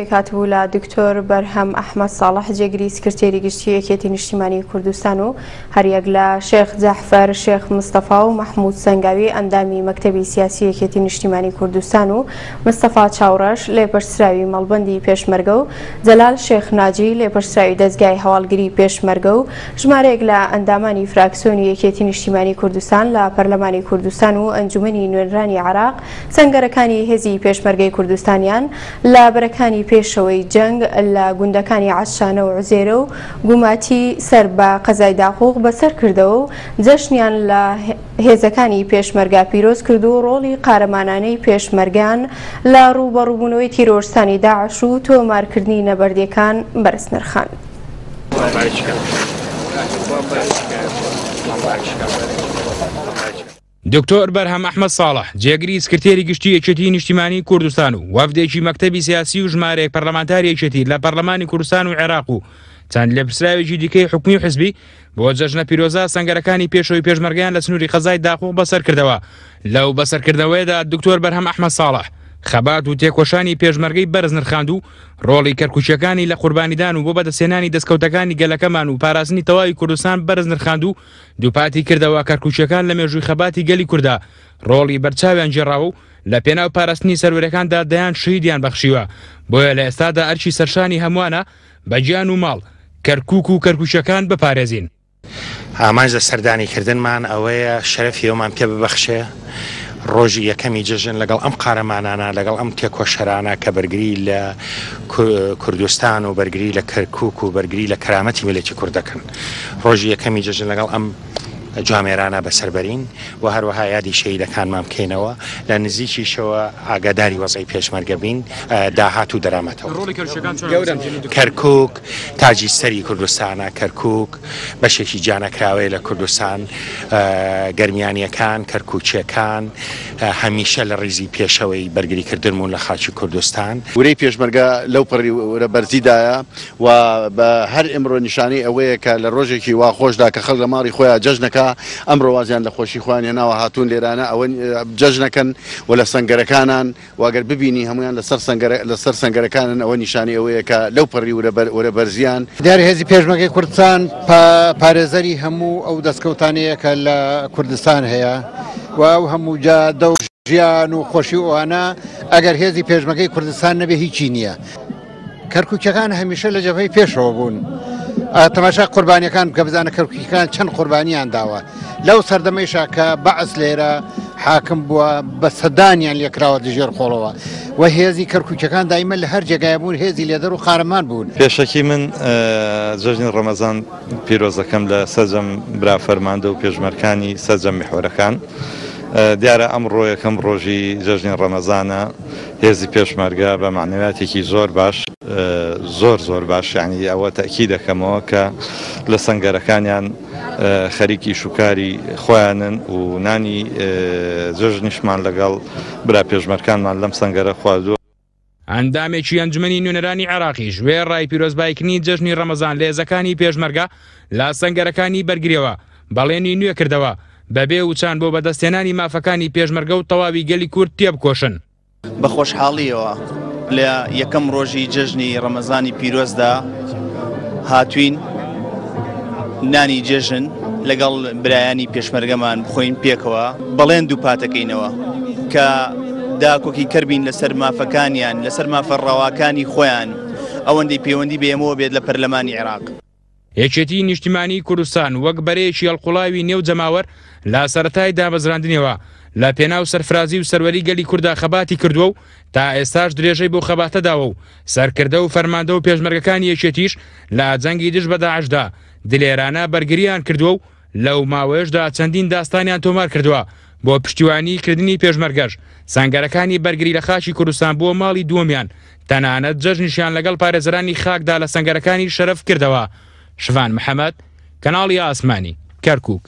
پێکهاتبوو لە دکتۆر بەرهەم ئەحمەد ساڵح جێگری سکرتێری گشتی یەکێتی نیشتیمانی کوردستان و هەریەک لە شێخ جەعفەر شێخ مستەفا و مەحمود سەنگاوی ئەندامی مەکتەبی سیاسی یەکێتی نیشتیمانی کوردستان و مستەفا چاوڕەش لێپرسراوی مەڵبەندی پێشمەرگە و جەلال شێخ ناجی لێپرسراوی دەزگای هەواڵگری پێشمەرگە و ژمارەیەک لە ئەندامانی فراکسیۆنی یەکێتی نیشتیمانی کوردستان لە پەرلەمانی کوردستان و ئەنجومەنی نوێنرانی عێراق سەنگەرەکانی هێزی پێشمەرگەی کوردستانیان لە بەرەکانی پێشەوەی جەنگ لە گوندەکانی عەشانە و عوزێرە و گوماتی سەر بە قەزای داقوق بەسەر کردەوە و جەژنیان لە هێزەکانی پێشمەرگە پیرۆز کرد و ڕۆڵی قارەمانانەی پێشمەرگەیان لە ڕووبەڕووبوونەوەی تیرۆرستانی داعش و تۆمارکردنی نەبەردیەکان بەرز نرخاند. دکتۆر بەرهەم ئەحمەد ساڵح، جێگری سکرتێری گشتی یەکێتیی نیشتیمانیی کوردستان و وەفدێکی مەکتەبی سیاسی و ژمارەیەک پەرلەمانتاری یەکێتی لە پەرلەمانی کوردستان و عێراق و چەند لێپرسراوێکی دیکەی حکومی و حزبی بۆ جەژنە پیرۆزە سەنگەرەکانی پێشەوەی پێشمەرگەیان لە سنووری قەزای داقوق بەسەرکردەوە. لەو بەسەرکردنەوەیەدا دکتۆر بەرهەم ئەحمەد ساڵح خەبات و تێکۆشانی پێشمەرگەی بەرز نرخاند و ڕۆڵی کەرکوکییەکانی لە قوربانیدان و بۆ بەدەستهێنانی دەستکەوتەکانی گەلەکەمان و پاراستنی تەواوی کوردستان بەرز نرخاند و دووپاتی کردەوە کەرکوکییەکان لە مێژووی خەباتی گەلی کوردا ڕۆڵی بەرچاویان گێڕاوە و لە پێناو پاراستنی سەروەریەکاندا دەیان شەهیدیان بەخشیوە، بۆیە لە ئێستادا ئەرکی سەرشانی هەمووانە بە گیان و ماڵ کەرکوک و کەرکوکییەکان بپارێزین. ئامانج لە سەردانی کردنمان ئەوەیە شەرەفی ئەومان پێ ببەخشێ ڕۆژی یەکەمی جەژن لەگەڵ ئەم قارەمانانە، لەگەڵ ئەم تێکۆشەرانە کە بەرگری لە کوردستان و بەرگری لە کەرکوک و بەرگری لە کەرامەتی میللەتی کورد دەکەن. ڕۆژی یەکەمی جەژن لەگەڵ ئەم جوامێرانە بەسەر بەرین و هەروەها یادی شەهیدەکانمان بکەینەوە، لە نزیکیشەوە ئاگاداری وەزعی پێشمەرگە بین، داهات و دەرامەتەوە. کەرکوک تاجی سەری کوردستانە، کەرکوک بەشێکی جیانەکراوەیە لە کوردستان، گەرمیانییەکان، کەرکوکییەکان هەمیشە لە ڕیزی پێشەوەی بەرگریکردن بوون لە خاکی کوردستان. ورەی پێشمەرگە لەو پەڕی ورە بەرزیدایە و بە هەر ئمڕۆ نیشانەی ئەوەیە کە لە ڕۆژێکی وا خۆشدا کە خەڵک لە ماڵی خۆیان جەژنەکا، ئەمڕۆ وازیان لە خۆشی خۆیان هێناوە هاتوون لێرانە ئەوە جەژنەکەن و لە سەنگەرەکانان و ئەگەر ببینی هەموویان لە سەر سەنگەرە لە سەر سەنگەرەکانن ئەوە نیشانەی ئەوەیە کە لەو پەڕی ورە بەر ورە بەرزیان. دیارە هێزی پێشمەرگەی کوردستان پارێزەری هەموو ئەو دەستکەوتانەیە کە لە کوردستان هەیە و ئەو هەموو جادە و ژیان و خۆشی و ئەوانە ئەگەر هێزی پێشمەرگەی کوردستان نەبێ هیچی نییە. کەرکوکیەکان هەمیشە لە جەبهەی پێشەوە بوون. تەماشا قوربانیەکان بکە بزانە کەرکوکیەکان چەند قوربانیان داوە. لەو سەردەمەیشا کە بەعس لێرە حاکم بووە بە سەدانیان لێکراوە دژێر خۆڵەوە و هێزی کەرکوکیەکان دایمە لە هەر جێگای بوون هێزی لێدەر و قارەمان بوون. پێشەکی من جەژنی ڕەمەزان پیرۆزەکەم لە سەرجەم برا فەرماندە و پێشمەرکانی سەرجەم میحوەرەکان. دیارە ئەمڕۆ یەکەم ڕۆژی جەژنی ڕەمەزانە، هێزی پێشمەرگە بە مەعنەویاتێکی زۆر باش زۆر زۆر باش یانی ئەوە تەئکید دەکەمەوە کە لە سەنگەرەکانیان خەریک ئیش و کاری خۆیانن و نانی جەژنیشمان لەگەڵ برا پێشمەرکانمان لەم سەنگەرە خواردووە. ئەندامێکی ئەنجومەنی نوێنەرانی عێراقیش وێڕای پیرۆزباییکردنی جەژنی ڕەمەزان لە هێزەکانی پێشمەرگە لە سەنگەرەکانی بەرگرییەوە بەڵێنی نوێ کردەوە بەبێ وچان بۆ بەدەستهێنانی مافەکانی پێشمەرگە و تەواوی گەلی کورد تێبکۆشن. بە خۆشحاڵییەوە لە یەکەم ڕۆژی جەژنی ڕەمەزانی پیرۆزدا هاتوین نانی جەژن لەگەڵ برایانی پێشمەرگەمان بخۆین پێکەوە بەڵێن دووپاتەکەینەوە کە داکۆکی کەربین لەسەر مافەکانیان لەسەر مافە ڕەواکانی خۆیان ئەوەندەی پەیوەندی بە ئێمەوە بێت لە پەرلەمانی عێراق. یەکێتیی نیشتیمانیی کوردستان وەک بەرەیەکی هەڵقوڵاوی نێو جەماوەر لە سەرەتای دامەزراندنیەوە لە پێناو سەرفرازی و سەروەری گەلی کوردا خەباتی کردووە و تا ئێستاش درێژەی بەو خەباتە داوە و سەرکردە و فەرماندە و پێشمەرگەکانی یەکێتیش لە جەنگی دژ بە داعشدا دلێرانە بەرگرییان کردووە و لەو ماوەیەشدا چەندین داستانیان تۆمار کردووە بۆ پشتیوانی کردنی پێشمەرگەش سەنگەرەکانی بەرگری لە خاکی کوردستان بووە ماڵی دووەمیان تەنانەت جەژنیشیان لەگەڵ پارێزەرانی خاکدا لە سەنگەرەکانی شەرەف کردەوە شڤان محەمەد کەناڵی ئاسمانی کەرکوک.